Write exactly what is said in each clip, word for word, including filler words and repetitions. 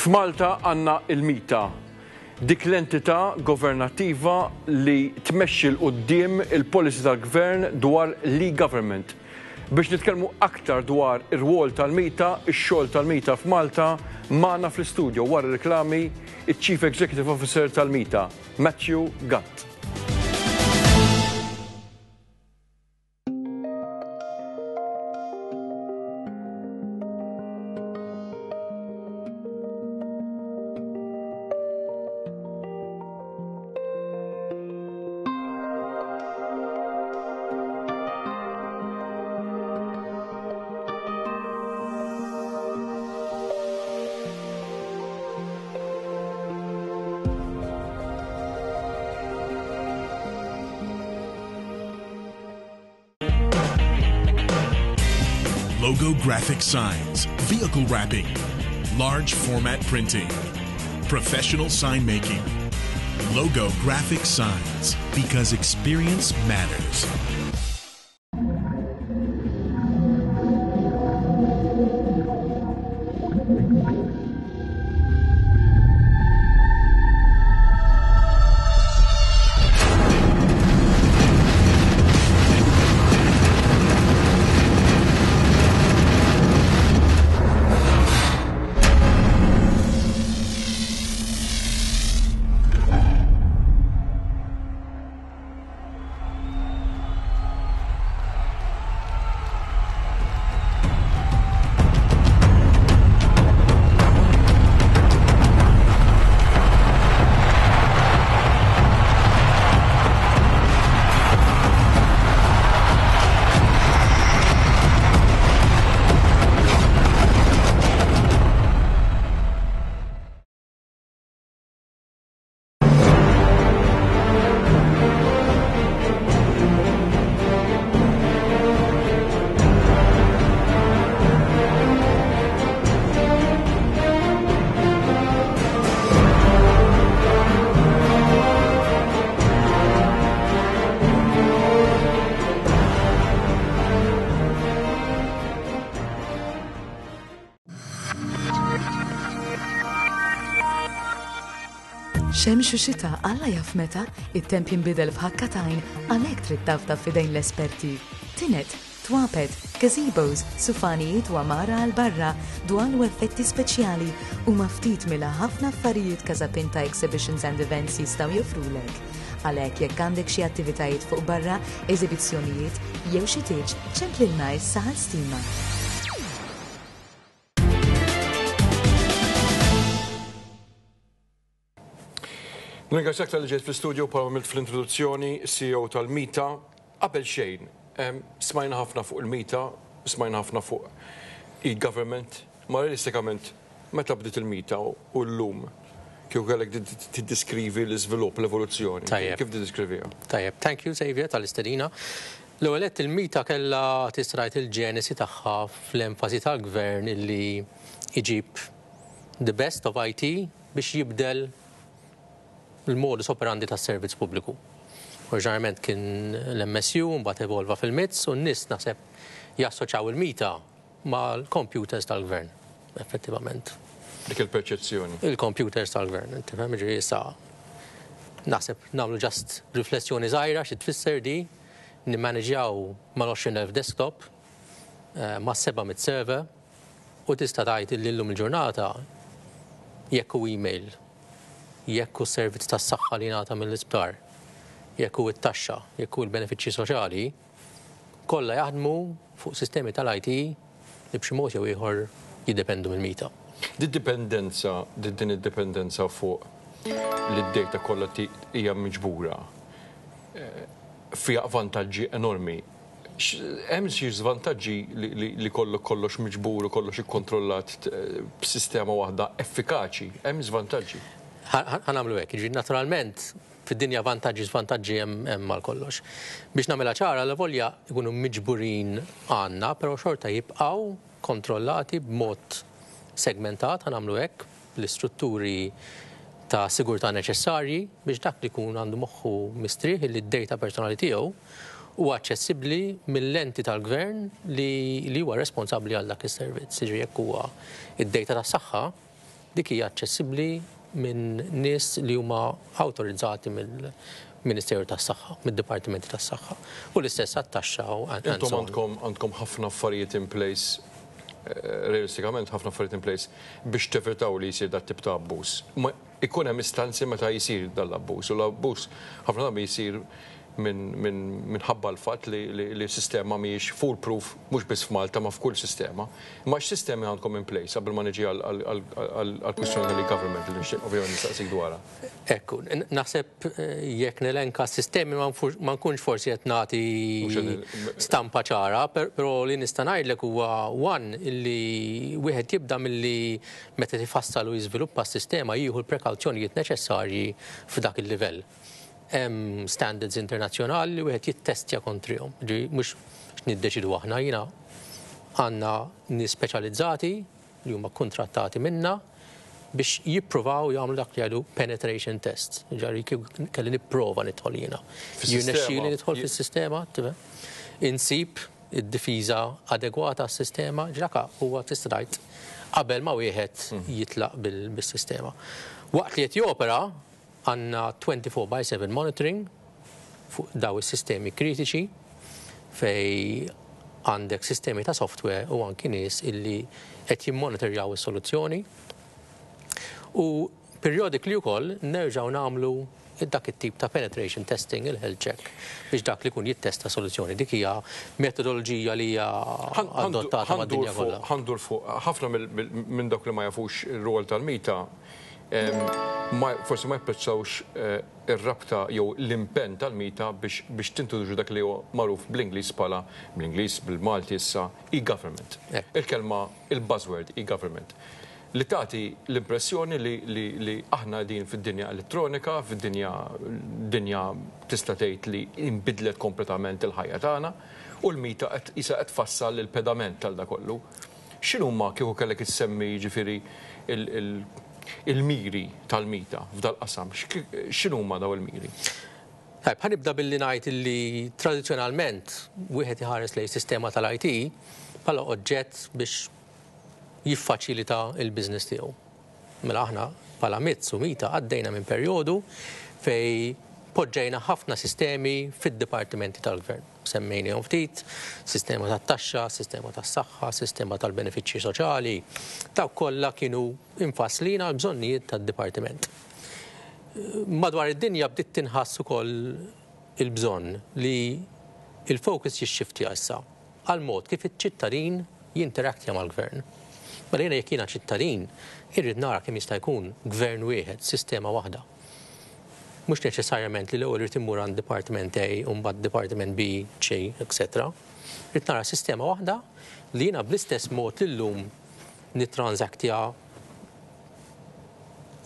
F'Malta għandna il-MITA, dik l-entità governattiva li tmexxi 'l quddiem il-policy tal-gvern dwar l-e-government. Biex nitkellmu aktar dwar ir-rwol tal-MITA, ix-xogħol tal-MITA f'Malta, magħna fl-istudio wara reklami iċ-Chief Executive Officer tal-MITA, Matthew Gatt. Logo graphic signs, vehicle wrapping, large format printing, professional sign making. Logo graphic signs, because experience matters. Xemx u xita, Alla jaf meta, it-temp jinbidel f'ħakka t'għajn, għalhekk trid tafda f'idejn l-esperti. Tined, twapet, gazebos, sufanijiet u għamara għal barra, dwal u effetti speċjali u ftit mill-ħafna affarijiet Casapinta Exhibitions and Events jistgħu joffrulek. Għalhekk jekk għandek xi attivitajiet fuq barra, eżibizzjonijiet jew xi tieġ, ċemplilna issa għal stima. Nirringrazzjak talli ġejt fl-studio bħalma għamilt fl-introduzzjoni, C E O tal-MITA. Qabel xejn, smajna ħafna fuq il-MITA, smajna ħafna fuq e-government, ma realistikament, meta bdiet il-MITA u l-lum, kieku kellek tiddiskrivi l-iżvilupp, l-evoluzzjoni? Tajjeb. Kif tiddiskriviha? Tajjeb, thank you, Xavier, tal-istedina. L-ewwel il-MITA kellha tista' tgħid il-ġenesi tagħha fl-enfasi tal-gvern illi iġib the best of I T biex jibdel il-modus operandi tas-servizz pubbliku. Oriġinarjament kien l-M S U, mbagħad evolva fil-M I T S u n-nies naħseb jassoċjaw il-MITA mal-computers tal-gvern, effettivament. Dik il-perċezzjoni. Il-computers tal-gvern, tifhem, ġifieri issa naħseb nagħmlu just riflessjoni żgħira xi tfisser di nimmaneġjaw mal-għoxrin elf desktop, eh, ma' seba' mitt server u tista' tgħid li llum il-ġurnata jekk hu email, jekk hu servizz tas-saħħa li ngħata mill-isptar, jekk hu it-taxxa, jekk hu l-benefiċċji soċjali, kollha jaħdmu fuq sistemi tal-I T li b'xi mod jew ieħor jiddependu mill-MITA. Di dipendenza, di din id-dipendenza fuq li d-data kollha hija miġbura eh, fiha vantaġġi enormi. Hemm xi żvantaġġi li kollok kollox miġbur u kollox ikkontrollat eh, b'sistema waħda effikaċi, hemm żvantaġġi? Ħa nagħmlu hekk, jiġifieri naturalment fid-dinja vantaġġi, żvantaġġi hemm għal kollox. Biex nagħmilha ċara, l-volja jkunu miġburin għandna, però xorta jibqgħu kontrollati b'mod segmentat, ħa nagħmlu hekk, l-istrutturi ta' sigurtà neċessarji biex dak li jkun għandu moħħu mistrieħ li d-data personali tiegħu huwa aċċessibbli mill-enti tal-gvern li, li huwa responsabbli għal dak is-servizz. Jiġifieri jekk huwa id-data tas-saħħa, Dik hija aċċessibbli minn nies li huma awtorizzati mill-Ministeru tas-Saħħa, mid-Dipartimenti tas-Saħħa. U l-istess għat-taxxa u Intom għandkom għandkom ħafna affarijiet in place, eh, realistikament ħafna affarijiet in place biex tevitaw li jsir dat tip ta' abbuż. Ma ikun hemm istanzi meta jsir dal-abbuż u l-abbuż ħafna drabi jsir minħabba l-fatt li, li, li sistema mhijiex foolproof, mhux biss f'Malta ma f'kull sistema. Ma x'sistemi għandkom in place qabel ma niġi għall-kwistjoni tal-government li nixtieq ovvjament nistaqsik dwarha? Ekku, naħseb eh, jekk nelenka sistemi ma nkunx forsi qed nagħti stampa ċara, però li nista' ngħidlek huwa one illi wieħed jibda milli meta tifassal u jiżviluppa s-sistema jieħu l-prekawzjonijiet neċessarji f'dak il-livell. Hemm standards internazzjonali li wieħed jittestja kontrihom. Ġi mhux niddeċidu aħna, jiena għandna nies speċjalizzati li huma kontrattati minna biex jippruvaw jagħmlu dak li jgħidu penetration test. Ġari kelli nipprova nidħol jiena. Jirnexxieli nidħol fis-sistema, insib id-difiża adegwata għas-sistema, ġraka huwa tista' tgħid qabel ma wieħed mhm. jitlaq bis-sistema. Waqt li qed jopera, għandna twenty-four by seven monitoring fuq daw is-sistemi kritiċi fej għandek sistemi ta' software u anki nies illi qed jimmonitorjaw is-soluzzjoni. U periodically wkoll nerġgħu nagħmlu dak it-tip ta' penetration testing, il-health check, biex dak li kun jittesta soluzzjoni. Dik hija metodoloġija li hija adottata mad-dinja kollha. Ħa ndur fuq ħafna minn dawk li ma jafux ir-rol tal-MITA, forsi ma japprezzawx eh, ir-rabta jew l-impenn tal-MITA biex tintroduċu dak li huwa magħruf bl-Ingliż bħala, bl-Ingliż, bil-Malti issa, e-government. Il-kelma, il-buzzword e-government, li tagħti l-impressjoni li, li, li aħna din fid-dinja elettronika, fid-dinja dinja tista' tgħid li inbidlet kompletament il-ħajja tagħna u l-MITA qed isa qed tfassal il-pedament tal da kollu. X'inhuma, kieku kellek issemmi jiġifieri il-miri tal-MITA f'dal-qasam? X'inhuma daw il-miri? Tajb, ħa nibda billi ngħid li tradizzjonalment wieħed iħares lejn sistema tal-I T bħala oġġett biex jiffaċilita il-business tiegħu. Mela aħna bħala M I T S u MITA għaddejna minn perjodu fej poġġejna ħafna sistemi fid-dipartimenti tal-gvern. Semmejnihom ftit, sistema tat-taxxa, sistema tas-saħħa, sistema tal-benefiċċji soċjali. Dawk kollha kienu infasslin għal bżonnijiet tad-dipartiment. Madwar id-dinja bdiet tinħass ukoll il-bżonn li il-focus jixxiftja issa għal mod kif iċ-ċittadin jinteraktja mal-gvern. Mela jiena jekk jiena ċittadin, irrid nara kemm jista' jkun gvern wieħed, sistema waħda. Mhux neċessarjament li l-ewwel irid immur għand Department A u mbagħad Department B, C, et cetera. Irrid nara sistema waħda li jiena bl-istess mod li llum nitransaktja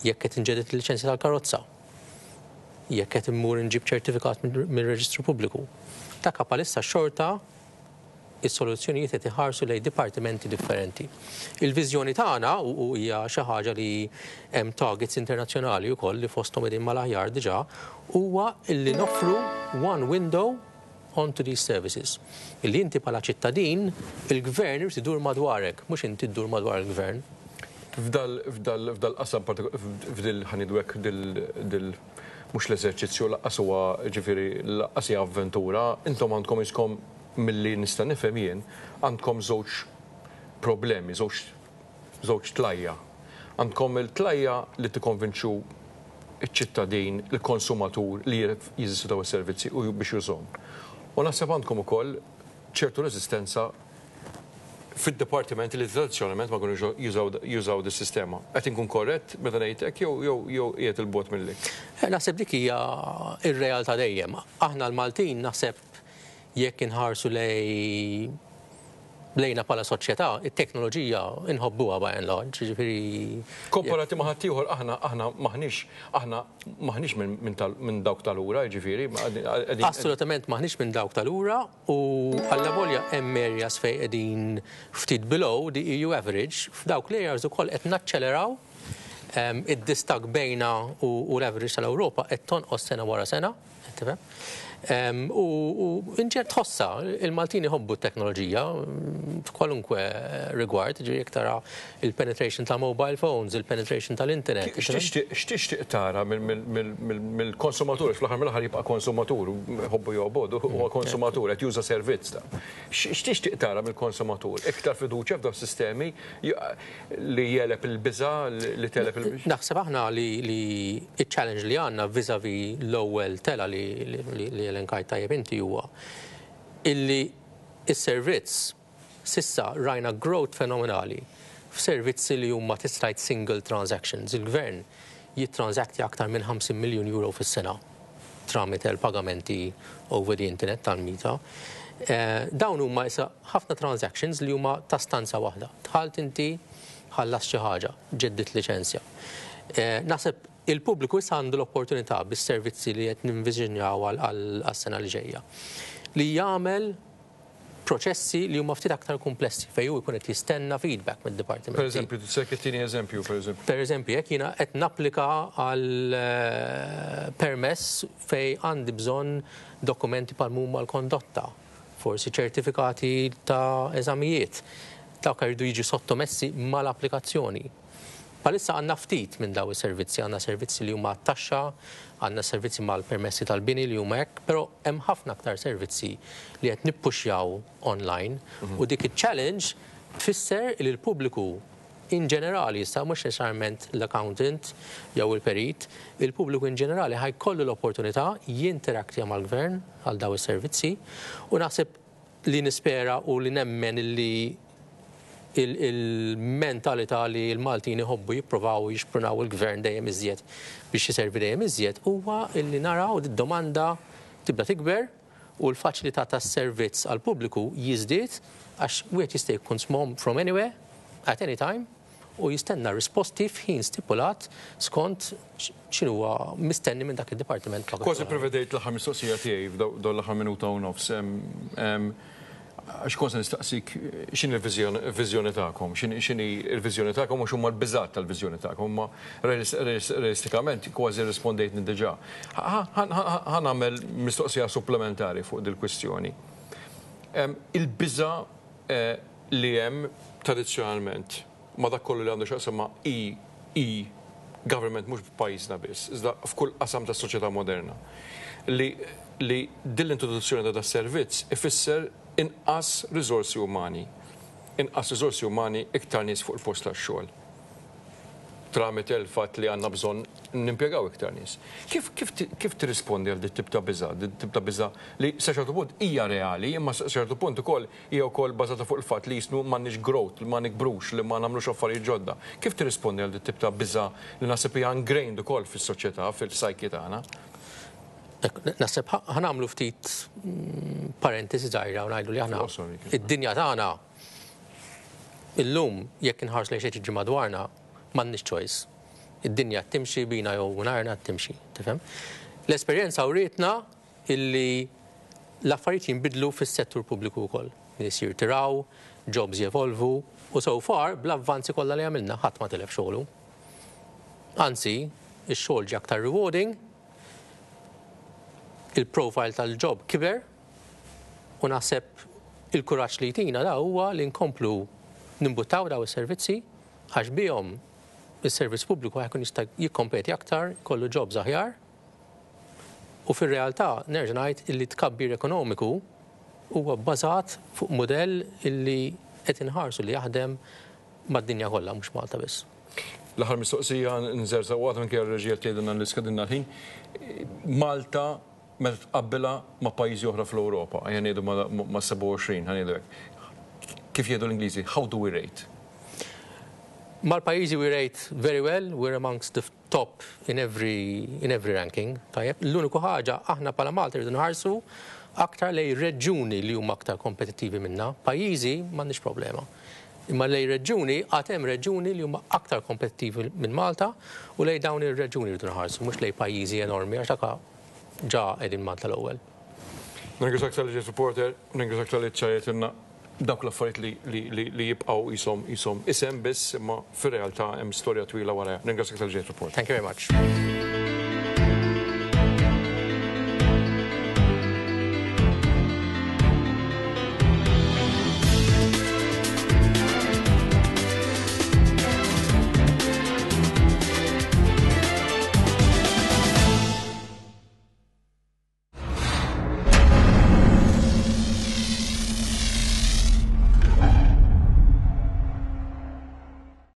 jekk qed inġedded il-liċenzja tal-karozza, jekk qed immur inġib ċertifikat mir-reġistru pubbliku. Ta' bħalissa xorta is-soluzzjonijiet qed iħarsu lejn dipartimenti differenti. Il-viżjoni tagħna, u hija xi ħaġa li hemm targets internazzjonali wkoll li fosthom qegħdin mal-aħjar diġà, huwa illi noffru one window onto these services. Illi inti bħala ċittadin, il-gvern irid idur madwarek, mhux inti ddur madwar il-gvern. F'dal f'dal f'dal qasam, f'dil ħa ngħidu hekk, dil dil mhux l-eżerċizzju lanqas huwa, ġifieri lanqas hija avventura, intom għandkom iskom milli nista' nifhem jien għandkom żewġ problemi, żewġ żewġ tlajja. Għandkom il-tlajja li tikkonvinċu iċ-ċittadin, il-konsumatur li jeżistu daw is-servizzi u biex jużhom. U naħseb għandkom ukoll ċertu reżistenza fid-dipartimenti li tradizzjonalment ma kienux jużaw dis-sistema. Qed inkun korrett meta ngħid hekk jew jew jew qiegħed il-bogħod milli? Eh, naħseb dik hija ir-realtà dejjem. Aħna l-Maltin, naħseb jekk inħarsu lej lejna bħala soċjetà, it-teknoloġija inħobbuha by and large, ġifieri. Komparati ma' ħaddieħor, aħna aħna maħniex aħna maħniex minn minn dawk tal-ura, ġifieri. Assolutament maħniex minn dawk tal-ura u allavolja hemm areas fejn qegħdin ftit below the E U average, f'dawk l-areas ukoll qed naċċeleraw. Id-distakk bejna u l-average tal-Ewropa qed tonqos sena wara sena, tifhem? U inġer tħossa, il-Maltin jħobbu t-teknoloġija f'kwalunkwe rigward, ġifieri jekk tara il-penetration ta' mobile phones, il-penetration tal-internet. X'tixtieq tara mill-konsumatur, fl-aħħar mill-aħħar jibqa' konsumatur, ħobbu jobogħdu, huwa konsumatur qed juża servizz ta'. X'tixtieq tara mill-konsumatur? Iktar fiduċja f'daw sistemi li jegħleb il-biża', li tegħleb il-biża'? Naħseb aħna li il-challenge li għandna vis-a-vis l-ewwel tela li elenkajt tajjeb inti huwa illi is-servizz s'issa rajna growth fenomenali f'servizzi li huma tista' tgħid single transactions. Il-gvern jittransaktja aktar minn ħamsin miljun euro fis-sena tramite l-pagamenti over the internet tal-MITA. Dawn huma issa ħafna transactions li huma ta' stanza waħda. Dħalt inti, ħallas xi ħaġa, ġeddit liċenzja. Naħseb il-pubbliku issa għandu l-opportunità bis-servizzi li qed ninviżinjaw għas-sena li ġejja li jagħmel proċessi li huma ftit aktar komplessi fejn hu jkun qed jistenna feedback mid-dipartiment. Per eżempju, se tini eżempju, per eżempju. Per eżempju, jekk jiena qed napplika għal permess fejn għandi bżonn dokumenti bħal huma l-kondotta, forsi ċertifikati ta' eżamijiet, dawk jridu jiġu sottomessi mal-applikazzjoni. Bħalissa għandna ftit minn daw is-servizzi, għandna servizzi li huma taxxa, għandna servizzi mal-permessi tal-bini li huma hekk, però hemm ħafna aktar servizzi li qed nippuxjaw online u dik il-challenge tfisser li l-pubbliku in ġenerali, issa mhux neċessarjament l-accountant jew il-perit, il-pubbliku in ġenerali ħa jkollu l-opportunità jinteraktja mal-gvern għal daw is-servizzi u naħseb li nispera u li nemmen li il-mentalità li l-Maltin iħobbu jipprovaw jixprunaw il-gvern dejjem iżjed biex jiservi dejjem iżjed huwa illi naraw id-domanda tibda tikber u l-faċilità tas-servizz għall-pubbliku jiżdied għax wieħed jista' jkun smom from anywhere at any time u jistenna risposti f'ħin stipulat skont x'inhuwa mistenni minn dak id-dipartiment. Kważi prevedejt l-aħħar mistoqsija tiegħi f'dawn l-aħħar minuta u nofs. Għax kont se nistaqsik x'inhi l-viżjoni tagħkom, x'inhi l-viżjoni tagħkom u x'huma l-biżgħat tal-viżjoni tagħkom, imma realistikament kważi rispondejtni diġà. Ħa nagħmel mistoqsija supplementari fuq dil-kwistjoni. Il-biża' li hemm tradizzjonalment ma dak kollu li għandu x'jaqsam ma' e-government mhux f'pajjiżna biss, iżda f'kull qasam tas-soċjetà moderna. Li din l-introduzzjoni ta' das-servizz ifisser inqas riżorsi umani. Inqas riżorsi umani, iktar nies fuq il-post tax-xogħol. Tramite il-fatt li għandna bżonn nimpjegaw iktar nies. Kif kif tirrispondi għal dit tip ta' biża', dit tip ta' biża' li sa ċertu punt hija reali, imma sa ċertu punt ukoll hija wkoll bażata fuq il-fatt li jisnu m'għandniex growth, li ma nikbrux, li ma nagħmlux affarijiet ġodda. Kif tirrispondi għal dit tip ta' biża' li naħseb hija ingrained ukoll fis-soċjetà, fil-psyche tagħna? Naħseb ħa nagħmlu ftit parentesi żgħira u ngħidu li aħna id-dinja tagħna illum jekk inħarsu lejn xi jiġri madwarna m'għandniex choice. Id-dinja timxi bina jew narna timxi, tifhem? L-esperjenza wrietna illi l-affarijiet jinbidlu fis-settur pubbliku wkoll. Nies jirtiraw, jobs jevolvu u so far bl-avvanzi kollha li għamilna ħadd ma tilef xogħlu. Anzi, ix-xogħol ġie aktar rewarding, il-profile tal-job kiber u naħseb il-kuraġġ li jtina da huwa li nkomplu nimbuttaw daw is-servizzi għax bihom is-servizz pubbliku ħa jkun jista' jikkompeti aktar, kollu jobs aħjar. U fir-realtà nerġa' ngħid illi tkabbir ekonomiku huwa bbażat fuq mudell illi qed inħarsu li jaħdem mad-dinja kollha, mhux Malta biss. L-aħħar mistoqsija nżerżaq waqt minkejja r-reġija tgħidilna li skadinna l-ħin. Malta meta tqabbilha ma' pajjiżi oħra fl-Ewropa, ejja ngħidu ma' sebgħa u għoxrin, ħa ngħidu hekk. Kif jgħidu l-Ingliżi, how do we rate? Mal-pajjiżi we rate very well, we're amongst the top in every, in every ranking. Tajjeb, l-uniku ħaġa aħna bħala Malta rridu nħarsu aktar lej reġuni li huma aktar kompetittivi minna. Pajjiżi m'għandniex problema. Imma lej reġuni, għad hemm reġuni li huma aktar kompetittivi minn Malta u lej dawn ir-reġuni rridu nħarsu, mhux lej pajjiżi enormi għax dak ġa qegħdin Malta l-ewwel. Nirringrazzjak talli ġejt, reporter, nirringrazzjak talli ċċarajtilna dawk l-affarijiet li, li, li jibqgħu jisom jisom isem biss, imma fir-realtà hemm storja twila wara. Nirringrazzjak talli ġejt, reporter. Thank you very much.